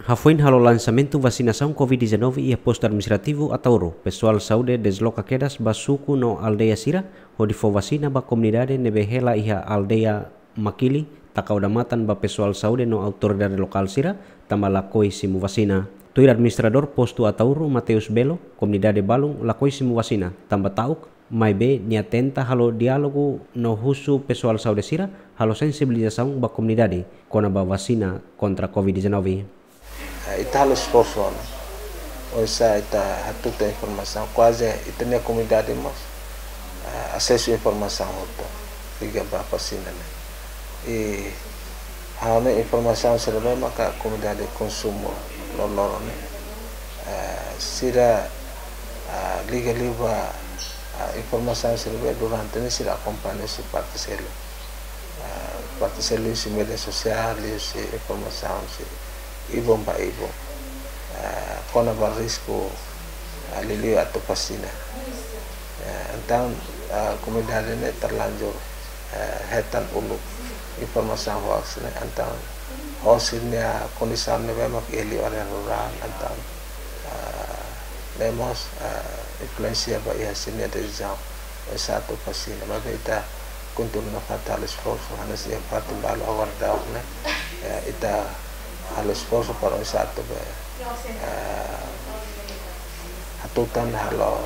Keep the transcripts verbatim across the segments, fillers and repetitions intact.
Hafoin halo lansamentu vasinasaun covid dezanove iha postu administrativu Ataúro, pesoál saúde dezloka kedas ba suku no aldeia sira, hodi fó vasina ba komunidade ne'ebé hela iha aldeia Makili, taka odamatan ba pesoál saúde no autoridade lokál sira, tanba lakohi simu vasina. Tuir administradór postu Ataúro, Mateus Belo, komunidade balun lakohi simu vasina, tanba ta'uk, maibé nia tenta halo diálogu no husu pesoál saúde sira halo sensibilizasaun ba komunidade kona-ba vasina kontra covid dezanove. Ah, ita halo esforsu ona. Oinsá ita hatutan informasaun, kuaze ita-nia komunidade mós, ah, asesu informasaun hotu liga ba vasina ne'e. I ha'u-nia informasaun sira-ne'e maka komunidade konsumu loroloron ne'e. Ah, sira, ah, liga liu ba, ah, informasaun sira-ne'e durante ne'e sira akompaña husi parte seluk. Ah, parte seluk husi média sosiál, liuhusi informasaun husi ibun ba ibun. Ah, kona-ba risku, ah, liuliu atu vasina. Ah, entaun, ah, komunidade ne'e terlanjur, ah, hetan uluk informasaun hoaks ne'e, entaun hosi nia kondisaun ne'ebé mak iha liu área rurál, entaun, ah, ne'e mós, ah, influensia ba iha sira-nia desizaun oinsá atu vasina. Maibé ita kontinua nafatin halo esforsu, hanesan iha fatin balu agora daudaun ne'e, eh, ita halo esforsu para oinsá atu be, eh, hatutan halo,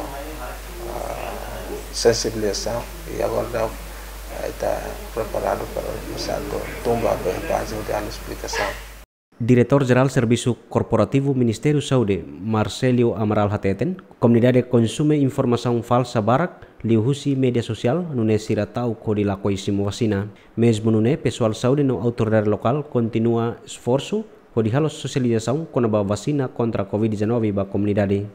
eh, sensibilizasaun, i agora daudaun, eh, ita preparadu para oinsá atu tun ba be baze hodi halo esplikasaun. Diretór Jerál Servisu Korporativu Ministériu Saúde, Marcélio Amaral hateten, komunidade konsume informasaun falsa barak liuhusi média sosiál, nune'e sira ta'uk hodi lakohi simu vasina. Mezmu nune'e, pesoál saúde no autoridade lokál kontinua esforsu hodi halo sosializasaun kona-ba vasina kontra covid dezanove ba komunidade.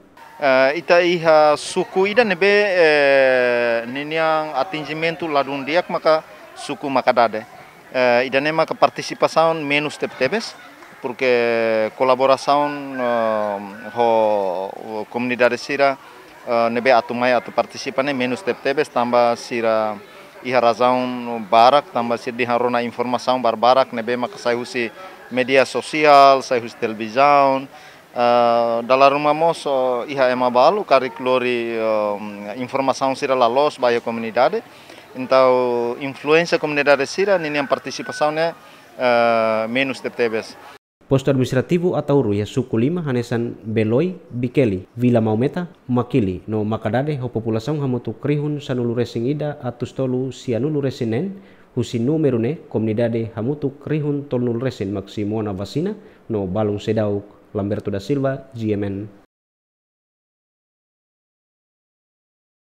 Eh, ita iha suku ida ne'ebé, eh, ninian atinjimentu ladún di'ak maka suku Makadade. Eh, ida-ne'e maka partisipasaun menus tebetebes, porque kolaborasaun, eh, ho komunidade sira, eh, ne'ebé atu mai atu partisipa ne'e menus tebetebes, tanba sira iha razaun barak, tanba sira dehan rona informasaun barbarak ne'ebé maka sai husi média sosiál, sai husi televizaun, ah, dala ruma mós, oh, iha ema balu karik lori, oh, informasaun sira la loos ba iha komunidade. Entaun influénsia komunidade sira ninian partisipasaun ne'e, eh, menus tebetebes. Postu administrativu Ataúro iha suku lima hanesan Beloi, Bikeli, Vila Maumeta, Makili no Makadade ho populasaun hamutuk rihun sanulu resin ida atus tolu sianulu resin neen, husi númeru ne'e komunidade hamutuk rihun tolunulu resin mak simu ona vasina no balun seidauk. Lamberto da Silva, G M N.